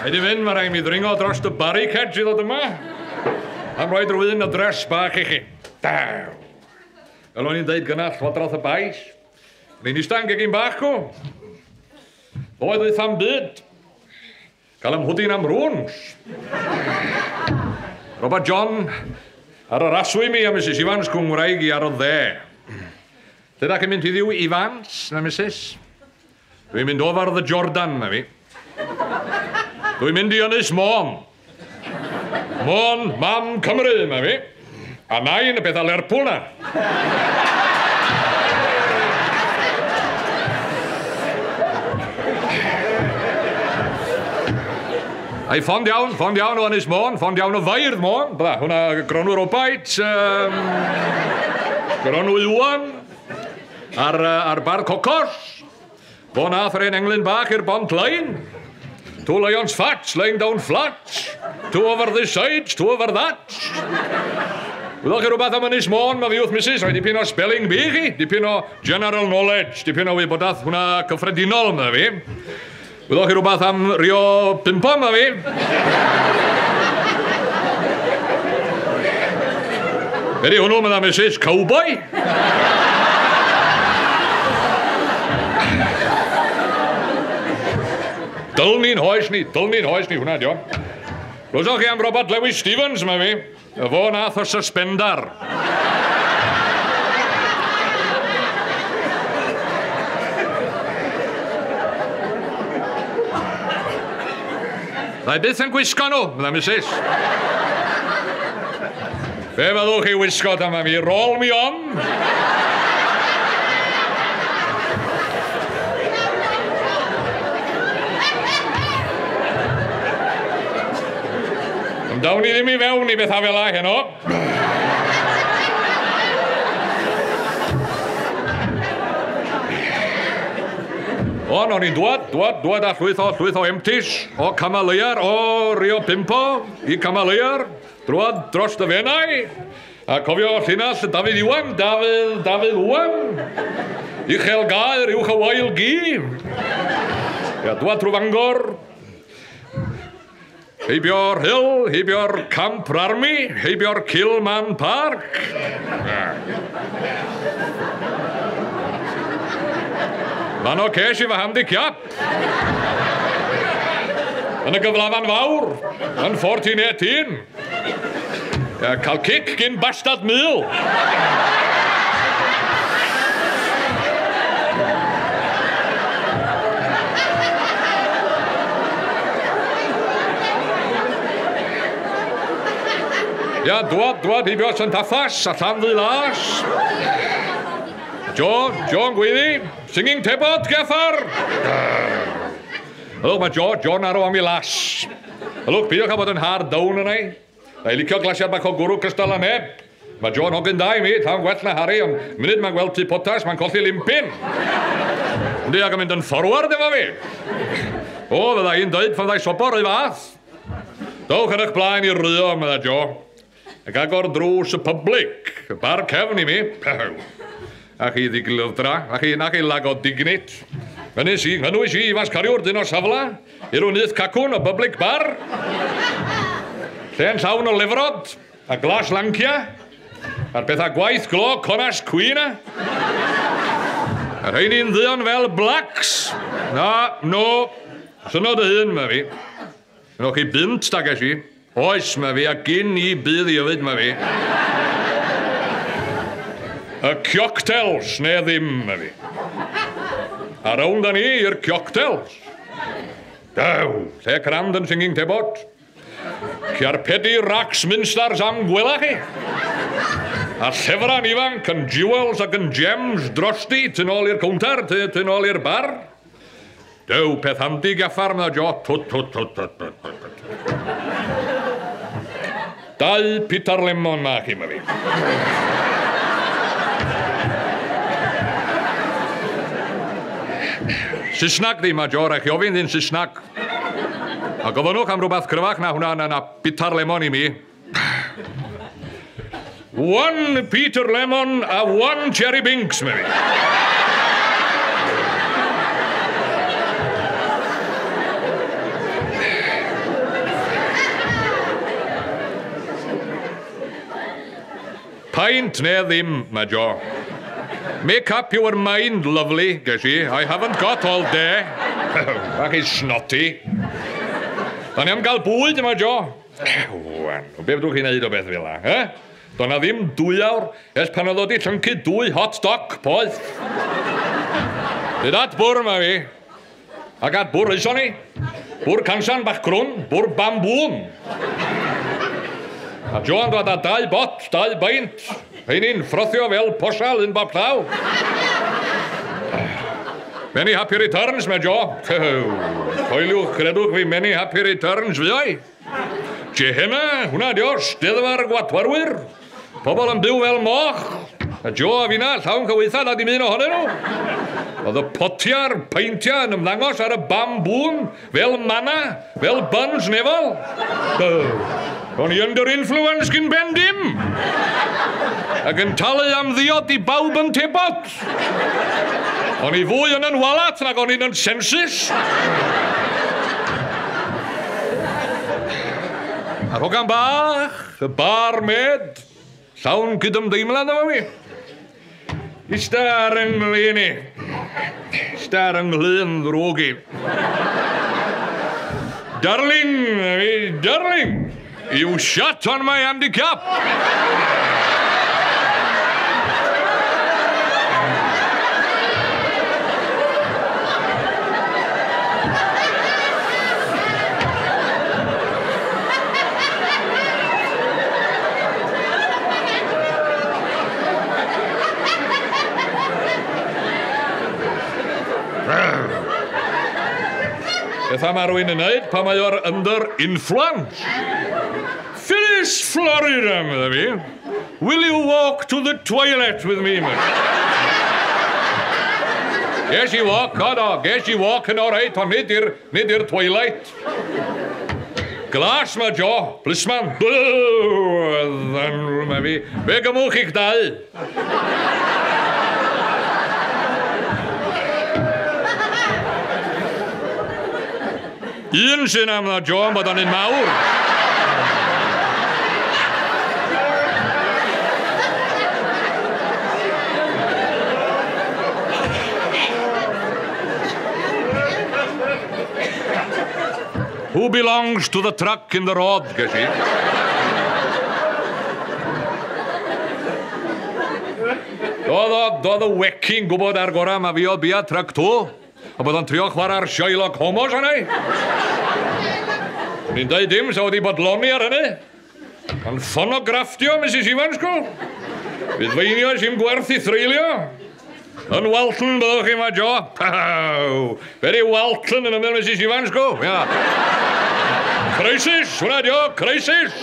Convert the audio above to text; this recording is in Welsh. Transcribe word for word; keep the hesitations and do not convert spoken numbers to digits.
Rhaid i fynd, mae rhaid mi ddringo dros y barricades i ddod yma. Am roi drwy un adres bach i chi. Daw. Fel o'n i'n deud gynna Llywodraeth y Bais. O'n i'n eistedd yn gegin bach o. Doedd wyth am byd. Cael ymhwdyn am rŵns. Robert John ar yr aswy mi a Missus Evans Cwngwraig i ar y dde. Lle da chi'n mynd heddiw, Evans na Missus? Dwi'n mynd over the Jordan, na fi. Dwi'n mynd i Ynys Môn. Môn, mam Cymru, na fi. A nain y pethau Lerpwl na. Ai, ffond iawn, ffond iawn o Ynys Môn, ffond iawn o Feirdd Môn. Bydda, hwnna Gronw Robaits, um, Gronw Iwan, a'r, ar bar Cocos. Fo nath yr un englyn bach i'r Bont Line. Two lions fat, lying down flat. Two over this side, two over that. Wyddoch chi rhywbeth am Ynys Môn, mae fi wrth Missus, rhoi dipyn o spelling bee chi, dipyn o general knowledge, dipyn o wybodaeth hwnna cyffredinol, mae fi. Wyddoch chi rhywbeth am Rio Pimpo, mae fi. Be di hwnnw, medda Missus, cowboy? Dylni'n hoes ni, dylni'n hoes ni, hwnna, dio. Glywsoch chi am Robert Lewis Stevens, mae fi. Y fo nath o suspendar. Ddau byth yn gwisgo nhw, medda Missus. Be fyddwch chi wisgo ta, mae fi? Roll me on. Dawn ni ddim i fewn i bethau fel la heno. O, o'n i'n dwad, dwad, dwad a llwyth o, llwyth o empties, o Camaleiar, o Rio Pimpo, i Camaleiar, drwad dros y Fenai, a cofio llinell Dafydd Iwan, Dafydd, Dafydd Iwan, Uchel Gaer, Uwch y Wael Gi, ia, dwad trwy Fangor, heibio'r Hill, heibio'r Camp Army, heibio'r Kilman Park. Fan o ces i fy handicap. Yn y gyflafan fawr, yn fourteen eighteen. Ia, cael cic gyn bastard mil. Ia, dwad, dwad, heibio Saint Affas, a Llanddulais. Jo, Jo'n gweiddi, singing tebot, Geffar. Ylwch, mae Jo, Jo'n arw am ei las. Ylwch, peidiwch â bod yn hard down yna i. Na i licio glasiad bach o gwrw cystal â neb. Mae Jo'n hogyn da i mi, llawn gwell na Harry, ond munud mae'n gweld tŷ potas, mae'n colli limpin. Yndi, ac yn mynd yn forward efo fi. O, fydda i'n dweud pan fydda i sobor o'i fath. Dowch yn eich blaen i rio, medda Jo. Ac agor drws y public, y bar cefn i mi. A chi ddiglywdra, a chi, na chi lag o dignit. Ngynwys i, ngynwys i, Ifans Cariwr, dyn o safla, i'r wnydd cacwn o public bar. Lle'n llawn o lefrod, a glas lancia, a'r pethau gwaith glo, conas cwina. A rheini'n ddion fel blacks. Na, no, syno dy hun, mae fi. Nwch chi bunt, da ges i. Oes, mae fi, a gyn i bydd i yfyd, mae fi. Y cioctels, neu ddim, mae fi. A rownd â ni i'r cioctels. Dew, lle crand yn singing tebot. Ciarpedi racs minstars am gwela chi. A llefran ifanc yn jewels ac yn gems drosti, tu nôl i'r cownter, tu nôl i'r bar. Dew, peth handi gaffar, medda Jo. Tut, tut, tut, tut, tut, tut. Dau Peter Lemon ma chi, ma fi. Saesnag di, ma Jo, rhaid chi ofyn ddyn Saesnag. A gofynnwch am rhywbeth cryfach na hwnna, na, na Peter Lemon i mi. One Peter Lemon a one Cherry Binks, ma fi. Peint neu ddim, mae Jo. Make up your mind, lovely, ges i. I haven't got all day. Bach i snotty. Da ni am gael bwyd yma, Jo. Wan, be fedrwch chi wneud o beth fel 'na, eh? Do na ddim dwy awr ers pan oedd o 'di llyncu dwy hot dog poeth. Dyd at bwr ma fi. Ac at bwr ison ni. Bwr cansan bach crwn, bwr bambŵn. A Joan dod â dau bot, dau beint. Rheini'n frothio fel posal un bob llaw. Many happy returns, mae Jo. Coeliwch, credwch fi, many happy returns fi oi. Gehenna, hwnna dio, steddfa'r gwatwarwyr. Pobl yn byw fel moch. A Jo a finna, llawn cyweitha, na dim un ohonyn nhw. Oedd y potia'r peintiau yn ymddangos ar y bambŵn, fel manna, fel buns nefol. O'n i under influence gyn ben dim. Ac yn talu am ddiod i bawb yn tebot. O'n i fwy yn yn walat nag o'n i'n yn sensus. A'r hogan bach, y barmaid, llawn cydymdeimlad efo fi. Ista ar yng nglyn i. Ista ar yng nglyn ddrwg i. Darling, darling, you shot on my handicap. Beth am rywun yn neud pan mae o'r under influence? Phyllis Florida, medda fi. Will you walk to the toilet with me, mate? Ges i walk, o do, ges i walk yn oreit, ond nid i'r, nid i'r twilight. Glas mae Jo, plisman. Mae fi. Fe gymwch i'ch dau. Un sy'n am dda Jo yn bod o'n un mawr. Who belongs to the truck in the road, ges i? Doedd o, doedd y weci'n gwybod ar gorau ma fi o bia truck to. A bod o'n trio chwarae'r Sherlock Holmes arna i. O'n i'n deud dim, sa wedi bodloni ar hynny. Ond ffonografftio, Missus Evans, go. Fydd feinio sy'n gwerth i threulio. Yn Walton, byddwch chi ma, Jo. Very Walton yn ymwyl Missus Evans, go. Ia. Crisis, hwnna dio, crisis.